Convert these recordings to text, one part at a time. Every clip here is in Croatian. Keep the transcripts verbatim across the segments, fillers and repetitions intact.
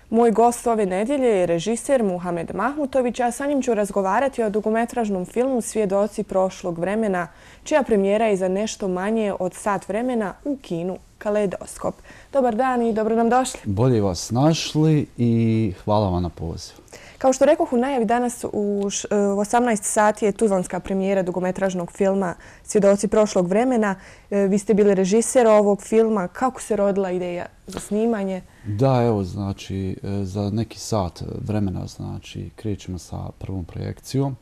Moj gost ove nedjelje je režiser Muhamed Mahmutović, a sa njim ću razgovarati o dugometražnom filmu Svjedoci prošlog vremena, čija premijera je za nešto manje od sat vremena u kinu Kaleidoskop. Dobar dan i dobro nam došli. Bolje vas našli i hvala vam na pozivu. Kao što rekoh u najavi, danas u osamnaest sati je tuzlanska premijera dugometražnog filma Svjedoci prošlog vremena. Vi ste bili režiser ovog filma. Kako se rodila ideja za snimanje? Da, evo, znači, za neki sat vremena, znači, krećemo sa prvom projekcijom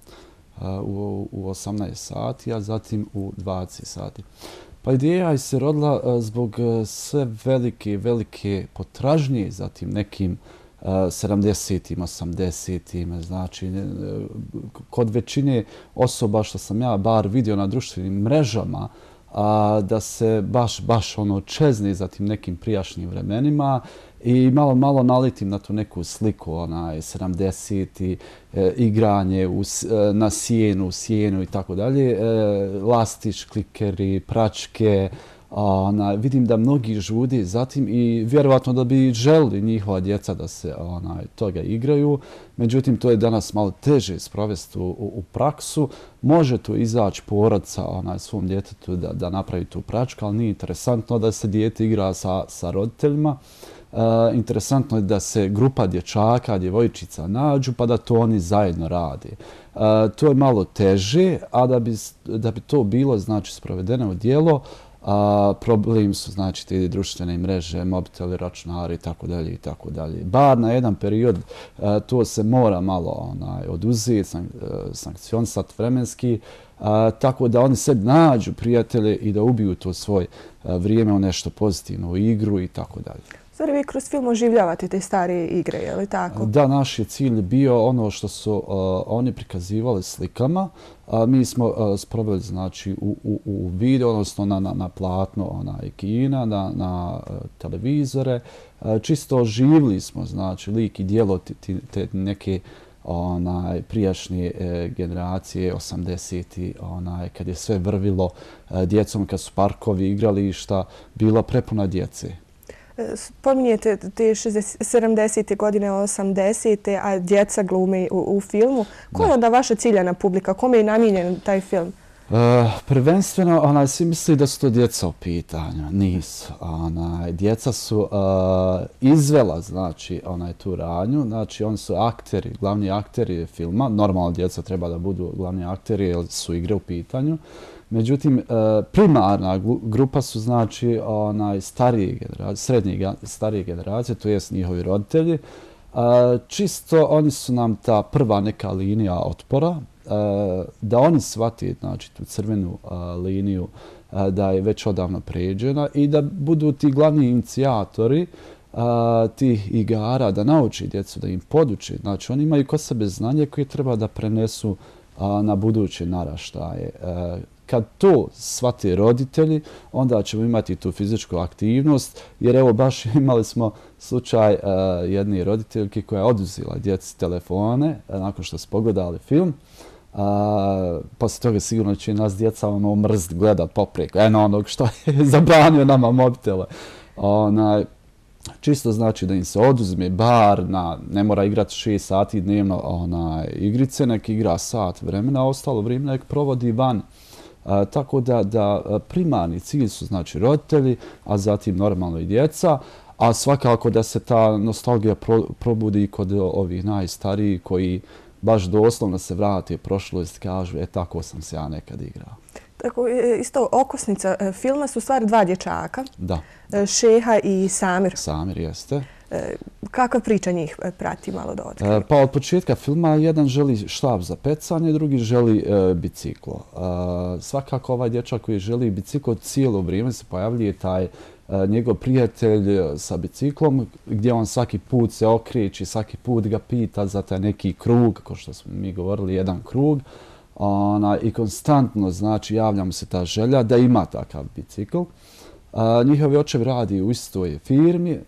u, u osamnaest sati, a zatim u dvadeset sati. Pa ideja se rodila zbog sve velike, velike potražnje, zatim nekim sedamdesetim, osamdesetim, znači kod većine osoba što sam ja bar vidio na društvenim mrežama, a, da se baš, baš ono čezne za tim nekim prijašnjim vremenima i malo, malo nalitim na tu neku sliku, onaj sedamdeseti, e, igranje u, e, na sjenu, u sjenu i tako dalje, e, lastić, klikeri, pračke. Ona, vidim da mnogi žudi zatim i vjerovatno da bi želili njihova djeca da se onaj, toga igraju. Međutim, to je danas malo teže sprovesti u, u praksu. Može tu izaći porodca onaj, svom djetetu da, da napravi tu pračku, ali nije interesantno da se dijete igra sa, sa roditeljima. Uh, interesantno je da se grupa dječaka, djevojčica nađu pa da to oni zajedno rade. Uh, to je malo teže, a da bi, da bi to bilo znači, sprovedeno u djelo, a problem su znači te društvene mreže, mobiteli, računari i tako dalje i tako dalje. Bar na jedan period a, to se mora malo onaj oduzeti, sank, sankcionisati vremenski, a, tako da oni sebi nađu prijatelje i da ubiju to svoje a, vrijeme u nešto pozitivno, u igru i tako dalje. Stvari, vi kroz film oživljavate te starije igre, je li tako? Da, naš je cilj bio ono što su uh, oni prikazivali slikama. Uh, mi smo uh, sproveli znači, u, u, u video, odnosno na, na, na platno onaj, kina, na, na uh, televizore. Uh, čisto oživili smo znači, lik i djelo te, te neke onaj, prijašnje e, generacije, osamdeseti, onaj, kad je sve vrvilo e, djecom, kad su parkovi, igrališta, bila prepuna djece. Spominjete te sedamdesete godine, osamdesete, a djeca glume u, u filmu. Ko je onda vaša ciljana publika? Kome je namijenjen taj film? Uh, prvenstveno, onaj, svi misli da su to djeca u pitanju. Nisu. Onaj, djeca su uh, izvela znači, onaj, tu radnju. Znači, oni su akteri, glavni akteri filma. Normalno, djeca treba da budu glavni akteri jer su igre u pitanju. Međutim, primarna grupa su znači onaj starije generacije, srednje starije generacije, to jest njihovi roditelji. Čisto oni su nam ta prva neka linija otpora, da oni shvate znači tu crvenu liniju da je već odavno pređena i da budu ti glavni inicijatori tih igara, da nauči djecu, da im poduče. Znači oni imaju kod sebe znanje koje treba da prenesu na buduće naraštaje. Kad to shvate roditelji, onda ćemo imati tu fizičku aktivnost, jer evo baš imali smo slučaj uh, jedne roditeljke koja je oduzela djeci telefone uh, nakon što su pogledali film. Uh, poslije toga sigurno će nas djeca ono mrziti, gledat popreko, eno onog što je zabranio nama mobitele. Onaj, čisto znači da im se oduzme bar na, ne mora igrati šest sati dnevno onaj, igrice, nek igra sat vremena, a ostalo vrijeme nek provodi van. A, tako da, da primarni cilj su znači roditelji, a zatim normalno i djeca, a svakako da se ta nostalgija pro, probudi kod ovih najstarijih koji baš doslovno se vrate prošlost i kažu, e tako sam se ja nekad igrao. Tako, isto okosnica filma su stvari dva dječaka, da. Šeha i Samir. Samir jeste. Kakva priča njih prati malo da otkrije? Pa od početka filma jedan želi štap za pecanje, drugi želi e, biciklo. E, svakako ovaj dječak koji želi biciklo cijelo vrijeme se pojavljuje taj e, njegov prijatelj sa biciklom gdje on svaki put se okreće, svaki put ga pita za taj neki krug, kao što smo mi govorili, jedan krug. Ona, i konstantno znači javlja mu se ta želja da ima takav bicikl. A, njihovi očevi radi u istoj firmi,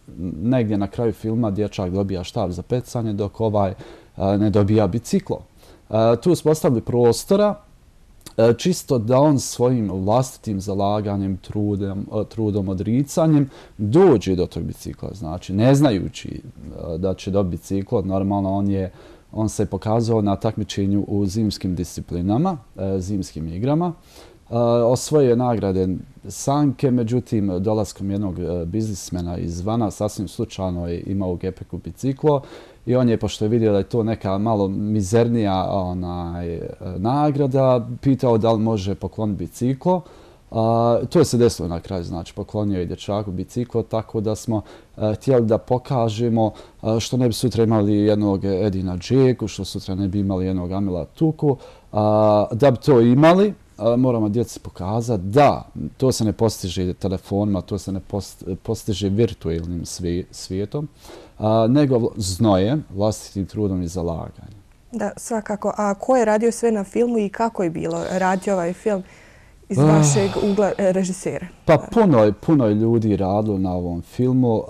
negdje na kraju filma dječak dobija štap za pecanje dok ovaj a, ne dobija biciklo. A, tu smo ostavili prostora čisto da on svojim vlastitim zalaganjem, trudom, trudom odricanjem dođe do tog bicikla. Znači, ne znajući da će dobiti biciklo, normalno on je on se pokazao na takmičenju u zimskim disciplinama, zimskim igrama. Osvojio je nagrade sanke, međutim, dolaskom jednog biznismena izvana, sasvim slučajno je imao u gepeku biciklo i on je, pošto je vidio da je to neka malo mizernija onaj, nagrada, pitao da li može pokloniti biciklo. Uh, to je se desilo na kraju, znači poklonio je dječaku biciklo, tako da smo uh, htjeli da pokažemo uh, što ne bi sutra imali jednog Edina Džeku, što sutra ne bi imali jednog Amila Tuku. Uh, da bi to imali, uh, moramo djeci pokazati da to se ne postiže telefonima, to se ne post, postiže virtualnim svi, svijetom, uh, nego znojem, vlastitim trudom i zalaganjem. Da, svakako. A ko je radio sve na filmu i kako je bilo raditi ovaj film iz vašeg ugla režisera? Pa puno je, puno je ljudi radilo na ovom filmu. Uh,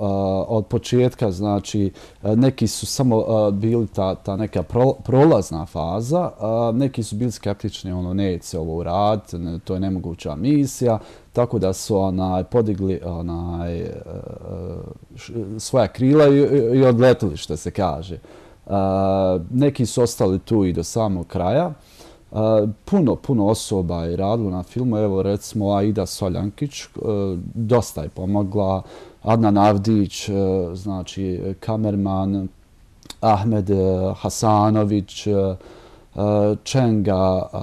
od početka, znači, neki su samo uh, bili ta, ta neka pro, prolazna faza, uh, neki su bili skeptični, ono, neće se ovo uraditi, to je nemoguća misija, tako da su onaj, podigli onaj, uh, svoja krila i, i odletili, što se kaže. Uh, neki su ostali tu i do samog kraja. Uh, puno, puno osoba je radilo na filmu. Evo, recimo, Aida Soljankić, uh, dosta je pomogla. Adnan Avdić, uh, znači, kamerman, Ahmed uh, Hasanović, uh, Čenga, uh,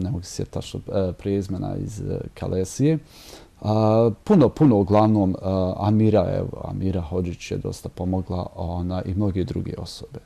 ne mogu se sjetiti tačno uh, prezimena iz uh, Kalesije. Uh, puno, puno, uglavnom, uh, Amira, evo, Amira Hodžić je dosta pomogla, ona i mnoge druge osobe.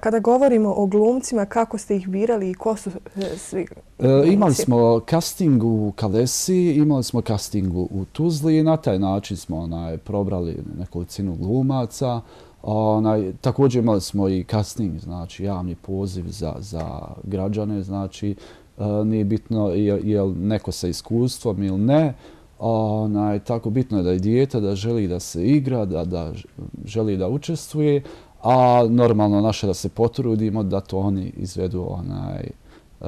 Kada govorimo o glumcima, kako ste ih birali i ko su svi glumci? E, imali smo casting u Kalesiji, imali smo casting u Tuzli i na taj način smo onaj, probrali nekolicinu glumaca. Onaj, također imali smo i casting, znači javni poziv za, za građane, znači e, nije bitno je, je li neko sa iskustvom ili ne. Onaj, tako bitno je da je dijete, da želi da se igra, da, da želi da učestvuje, a normalno naše da se potrudimo da to oni izvedu onaj, uh,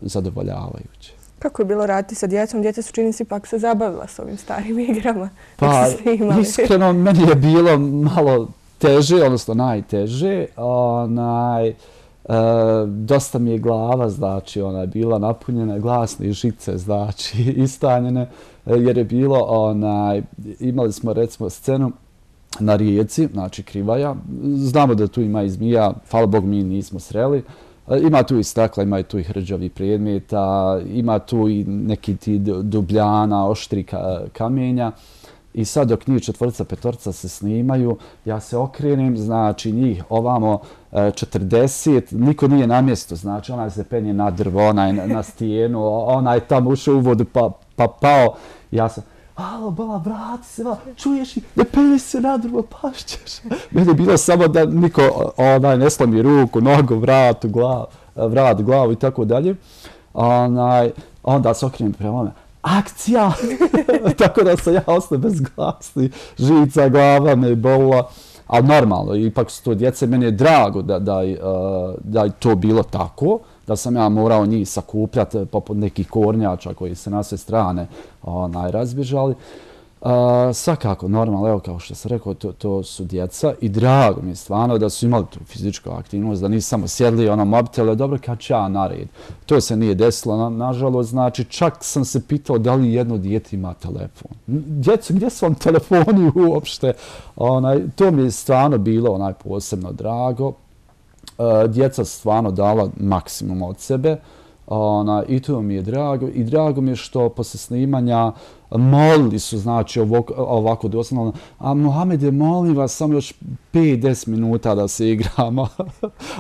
zadovoljavajuće. Kako je bilo raditi sa djecom? Djeca su, čini se, ipak se zabavila s ovim starim igrama. Pa, iskreno, meni je bilo malo teže, odnosno najteže. Onaj, uh, dosta mi je glava, znači, ona je bila napunjena, glasne žice, znači, istanjene, jer je bilo, onaj, imali smo, recimo, scenu na rijeci, znači Krivaja. Znamo da tu ima i zmija, hvala Bog mi nismo sreli. Ima tu i stakla, ima tu i hrđavi predmeta, ima tu i neki ti dubljana, oštri kamenja. I sad dok njih četvrca, petorca se snimaju, ja se okrenem, znači njih ovamo četrdeset, niko nije na mjestu, znači onaj se penje na drvo, onaj na stijenu, onaj tamo ušao u vodu pa, pa pao. Ja sam, alo, bala, vrati se, bala, čuješ i ne penje se na drvo, pašćeš. Meni je bilo samo da niko onaj, ne slomi ruku, nogu, vrat, glav, vrat, glavu i tako dalje. Onaj, onda se okrenem prema me. Akcija! Tako da sam ja ostao bez glasni, žica, glava me bolila. Ali normalno, ipak su to djece, meni je drago da, da, da je to bilo tako, da sam ja morao njih sakupljati poput nekih kornjača koji se na sve strane onaj, razbježali. Uh, svakako, normalno, evo kao što sam rekao, to, to su djeca i drago mi je stvarno da su imali tu fizičku aktivnost, da nisu samo sjedli ono mobitele, dobro kad će ja nared. To se nije desilo, na, nažalost, znači čak sam se pitao da li jedno dijete ima telefon. Djeco, gdje su vam telefoni uopšte? Onaj, to mi je stvarno bilo onaj posebno drago. Uh, djeca stvarno dala maksimum od sebe. Ona, i to mi je drago. I drago mi je što posle snimanja molili su, znači, ovako, ovako doslovno, a Mohamede, molim vas, samo još pet do deset minuta da se igramo.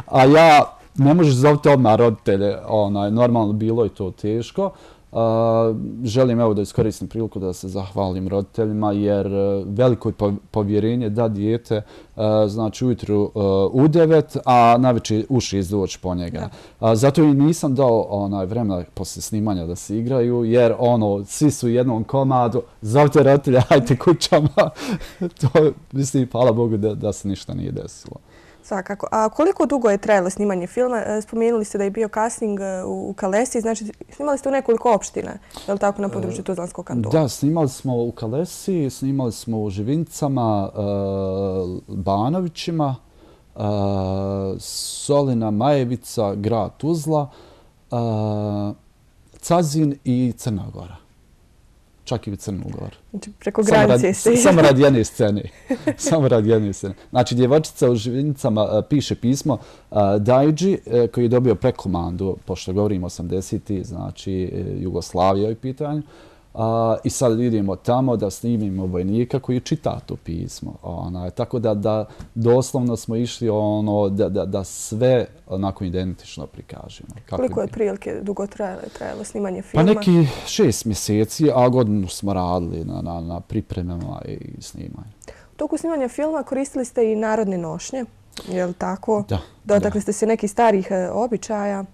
A ja, ne možeš zoviti odmah roditelje, onaj, normalno bilo je to teško. Uh, želim evo da iskoristim priliku da se zahvalim roditeljima jer uh, veliko je povjerenje da dijete uh, znači ujutru uh, u devet, a navečer u šest doći po njega. Uh, zato i nisam dao onaj vremena posle snimanja da se igraju jer ono svi su u jednom komadu, zovite roditelja, hajte kućama. To mislim, hvala Bogu da, da se ništa nije desilo. Svakako. A koliko dugo je trajalo snimanje filma? Spomenuli ste da je bio casting u Kalesi, znači snimali ste u nekoliko opština, je li tako, na području Tuzlanskog kantona? Da, snimali smo u Kalesi, snimali smo u Živincama, Banovićima, Solina, Majevica, grad Tuzla, Cazin i Crna Gora. Čak i u Crnu Goru. Znači, preko granice ste. Samo radi jedne scene. Samo radi jedne scene. Znači, djevojčica u Živinicama piše pismo Dajđi, koji je dobio prekomandu, pošto govorimo osamdesetih, znači Jugoslavija je u pitanju. I sad idemo tamo da snimimo vojnika koji čita to pismo. Tako da doslovno smo išli da sve onako identično prikažemo. Koliko je prilike dugo trajalo snimanje filma? Pa neki šest mjeseci, a godinu smo radili na pripremama i snimanju. U toku snimanja filma koristili ste i narodne nošnje, je li tako? Da. Dotakli ste se nekih starih običaja?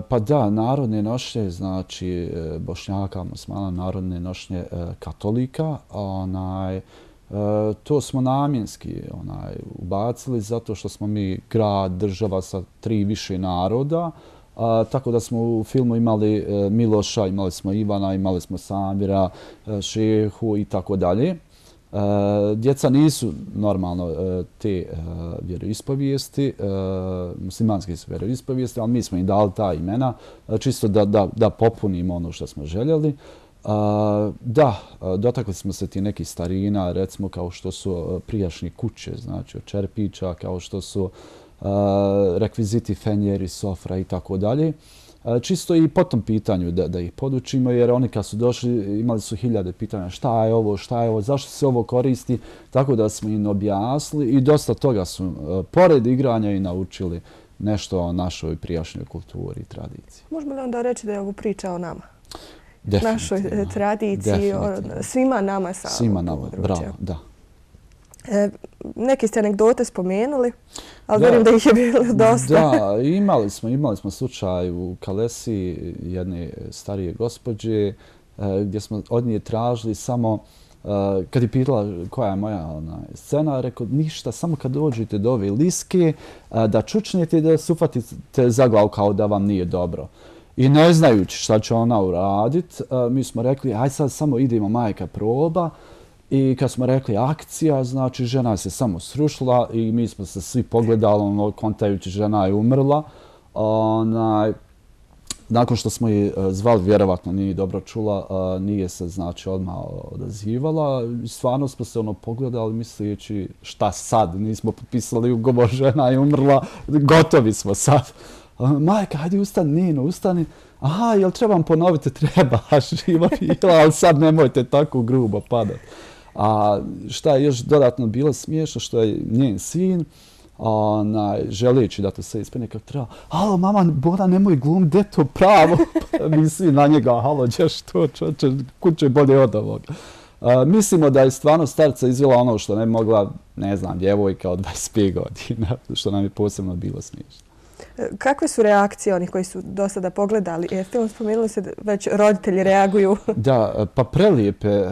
Pa da, narodne nošnje, znači Bošnjaka, Muslimana, narodne nošnje katolika, to smo namjenski ubacili zato što smo mi grad, država sa tri više naroda, tako da smo u filmu imali Miloša, imali smo Ivana, imali smo Samira, Šehu i tako dalje. Djeca nisu normalno te vjeroispovijesti, muslimanske su vjeroispovijesti, ali mi smo im dali ta imena čisto da popunimo ono što smo željeli. Da, dotakli smo se ti nekih starina, recimo kao što su prijašnje kuće, znači od čerpića, kao što su rekviziti fenjeri, sofra i tako dalje. Čisto i po tom pitanju da ih podučimo, jer oni kad su došli imali su hiljade pitanja šta je ovo, šta je ovo, zašto se ovo koristi, tako da smo im objasnili i dosta toga su pored igranja i naučili nešto o našoj prijašnjoj kulturi i tradiciji. Možemo li onda reći da je ovo priča o nama? Definitivno. Našoj tradiciji, svima nama sa Svima nama, bravo, da. Neke ste anegdote spomenuli, ali vjerujem da ih je bilo dosta. Da, imali smo, imali smo slučaj u Kalesi jedne starije gospođe gdje smo od nje tražili samo, kad je pitala koja je moja scena, rekao ništa, samo kad dođete do ove liske, da čučnete i da se ufatite za glavu kao da vam nije dobro. I ne znajući šta će ona uradit, mi smo rekli, aj sad samo idemo majka proba. I kad smo rekli akcija, znači žena se samo srušila i mi smo se svi pogledali, ono, kontajući žena je umrla. Onaj, nakon što smo je zvali, vjerovatno nije dobro čula, nije se znači odmah odazivala. Stvarno smo se ono pogledali misleći šta sad, nismo potpisali ugovor, žena je umrla, gotovi smo sad. Majka, hajde ustani, Nino, ustani. Aha, jel trebam ponoviti? Treba, živa bila, ali sad nemojte tako grubo padati. A šta je još dodatno bilo smiješno, što je njen sin, želeći da to sve ispane kako treba. Halo, mama, Bona, nemoj glum, gdje to pravo? Mi svi na njega, halo, ćeš to, čoče, kuće bolje od ovoga. Mislimo da je stvarno starca izvela ono što ne mogla, ne znam, djevojka od dvadeset pet godina, što nam je posebno bilo smiješno. Kakve su reakcije onih koji su do sada pogledali film? Spomenuli se da već roditelji reaguju. Da, pa prelijepe.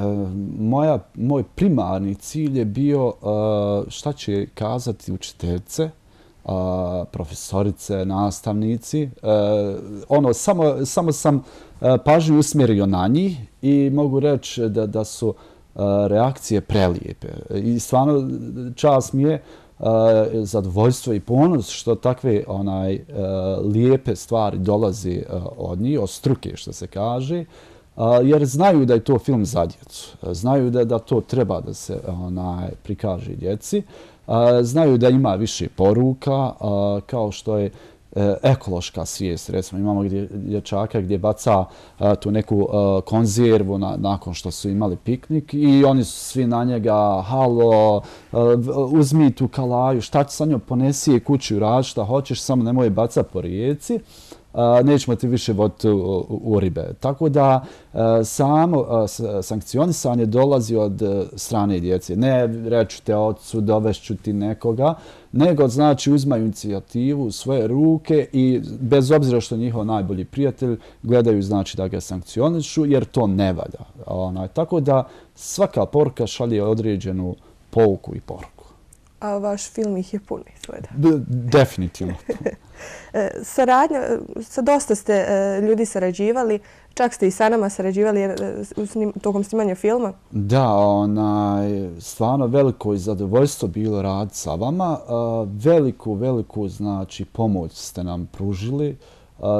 Moja, moj primarni cilj je bio šta će kazati učiteljice, profesorice, nastavnici. Ono, samo, samo sam pažnju usmjerio na njih i mogu reći da, da su reakcije prelijepe. I stvarno čast mi je zadovoljstvo i ponos što takve onaj lijepe stvari dolazi od njih, od struke što se kaže, jer znaju da je to film za djecu. Znaju da, da to treba da se onaj prikaže djeci. Znaju da ima više poruka, kao što je ekološka svijest. Recimo imamo dječaka gdje baca tu neku konzervu nakon što su imali piknik i oni su svi na njega, halo, uzmi tu kalaju, šta će sa njom, ponesi je kući, radi šta hoćeš, samo nemoj baca po rijeci, nećemo ti više voditi u ribe. Tako da samo sankcionisanje dolazi od strane djece. Ne reću te ocu, dovešću ti nekoga, nego znači uzmaju inicijativu u svoje ruke i bez obzira što je njihov najbolji prijatelj, gledaju znači da ga sankcionišu jer to ne valja. Tako da svaka poruka šalje određenu pouku i poruku. A vaš film ih je puno izgleda. Definitivno. Saradnja, sa dosta ste ljudi sarađivali, čak ste i sa nama sarađivali tokom snimanja filma. Da, onaj, stvarno veliko zadovoljstvo bilo rad sa vama. Veliku, veliku znači, pomoć ste nam pružili.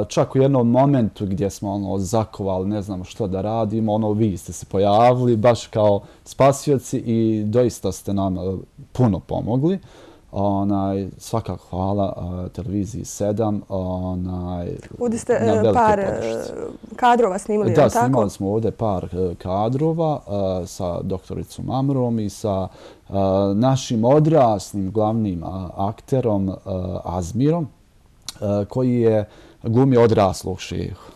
Čak u jednom momentu gdje smo ono, zakovali, ne znamo što da radimo, ono, vi ste se pojavili baš kao spasioci i doista ste nam puno pomogli. Onaj, svakako hvala uh, televiziji sedam. Onaj, ovdje ste uh, par uh, kadrova snimali, da, tako? Da, snimali smo ovdje par uh, kadrova uh, sa doktoricom Amrom i sa uh, našim odraslim glavnim uh, akterom uh, Azmirom, uh, koji je glumio odraslog šehu.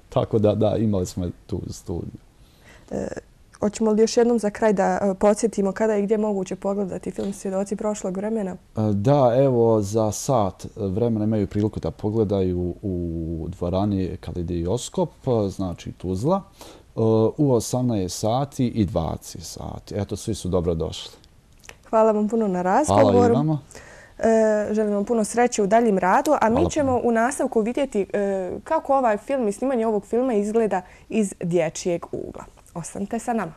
Tako da, da, imali smo tu studiju. Uh, Hoćemo li još jednom za kraj da podsjetimo kada i gdje moguće pogledati film Svjedoci prošlog vremena? Da, evo za sat vremena imaju priliku da pogledaju u dvorani Kaleidoskop, znači Tuzla, u osamnaest sati i dvadeset sati. Eto, svi su dobro došli. Hvala vam puno na razgovoru. Hvala i vama. Želim vam puno sreće u daljem radu, a mi ćemo u nastavku vidjeti kako ovaj film i snimanje ovog filma izgleda iz dječjeg ugla. Ostanite sa nama.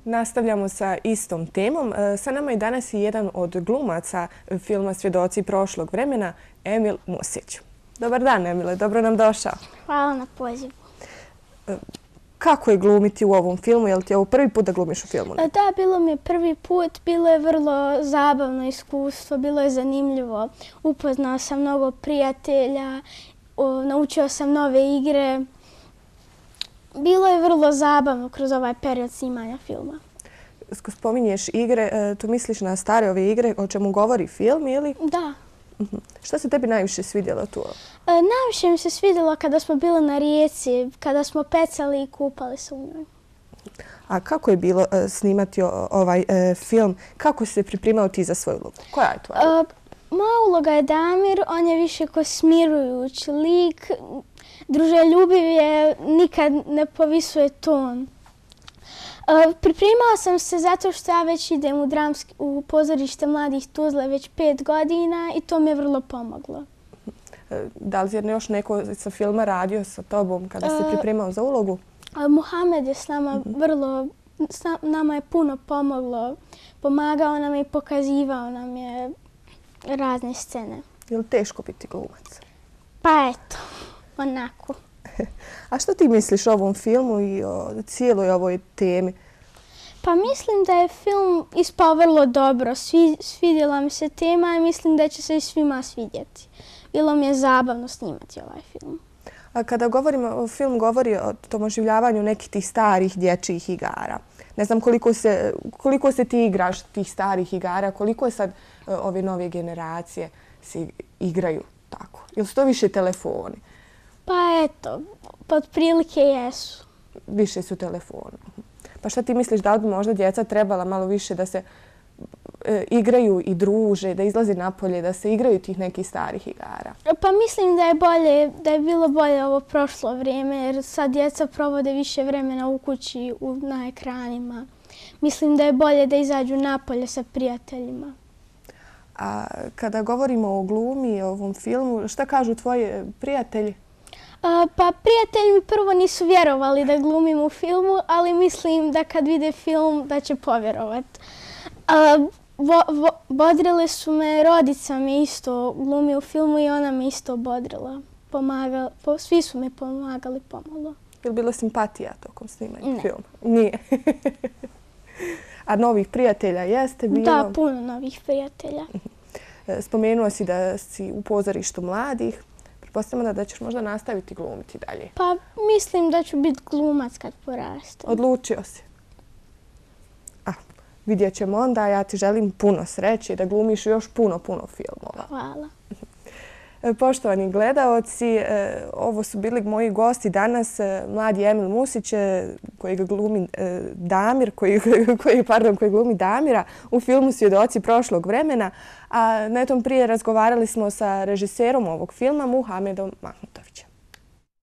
Nastavljamo sa istom temom. Sa nama je danas i jedan od glumaca filma Svjedoci prošlog vremena, Emil Musić. Dobar dan, Emile, dobro nam došao. Hvala na pozivu. Kako je glumiti u ovom filmu? Je li ti ovo prvi put da glumiš u filmu? Da, bilo mi je prvi put. Bilo je vrlo zabavno iskustvo, bilo je zanimljivo. Upoznao sam mnogo prijatelja, naučio sam nove igre. Bilo je vrlo zabavno kroz ovaj period snimanja filma. Spominješ igre, tu misliš na stare ove igre o čemu govori film ili? Da. Što se tebi najviše svidjelo tu? Najviše mi se svidjelo kada smo bili na rijeci, kada smo pecali i kupali se u njoj. A kako je bilo snimati ovaj film? Kako si se pripremao ti za svoju ulogu? Koja je tvoja uloga? Moja uloga je Damir, on je više ko smirujući lik. Druželjubiv je, nikad ne povisuje ton. Pripremala sam se zato što ja već idem u, dramski, u pozorište Mladih Tuzle već pet godina i to mi je vrlo pomoglo. Da li je još neko sa filma radio sa tobom kada se pripremao za ulogu? Muhamed je s nama vrlo, s nama je puno pomoglo. Pomagao nam je i pokazivao nam je razne scene. Je li teško biti glumac? Pa eto, onako. A što ti misliš o ovom filmu i o cijeloj ovoj temi? Pa mislim da je film ispao vrlo dobro. Svidjela mi se tema i mislim da će se i svima svidjeti. Bilo mi je zabavno snimati ovaj film. A kada govorimo o film, govori o tom oživljavanju nekih tih starih dječjih igara. Ne znam koliko se, koliko se ti igraš tih starih igara, koliko je sad ove nove generacije se igraju tako. Ili su to više telefoni? Pa eto, pod prilike jesu. Više su telefoni. Pa šta ti misliš, da li bi možda djeca trebala malo više da se e, igraju i druže, da izlaze napolje, da se igraju tih nekih starih igara? Pa mislim da je bolje, da je bilo bolje ovo prošlo vrijeme, jer sad djeca provode više vremena u kući, u, na ekranima. Mislim da je bolje da izađu napolje sa prijateljima. A kada govorimo o glumi i o ovom filmu, šta kažu tvoji prijatelji? Pa prijatelji mi prvo nisu vjerovali da glumim u filmu, ali mislim da kad vide film da će povjerovati. Bodrile su me, rodica mi isto glumi u filmu i ona me isto bodrila. Svi su mi pomagali pomalo. Je li bilo simpatija tokom snimanja Ne. filma? Nije. A novih prijatelja jeste bilo? Da, puno novih prijatelja. Spomenuo si da si u pozorištu mladih. Pretpostavljam da ćeš možda nastaviti glumiti dalje. Pa mislim da ću biti glumac kad porastem. Odlučio si. A, vidjet ćemo onda. Ja ti želim puno sreće i da glumiš još puno, puno filmova. Hvala. Poštovani gledaoci, ovo su bili moji gosti danas, mladi Emil Musić, koji glumi Damir, koji, koji, pardon, koji glumi Damira u filmu Svjedoci prošlog vremena, a netom prije razgovarali smo sa režiserom ovog filma, Muhamedom Mahmutovim.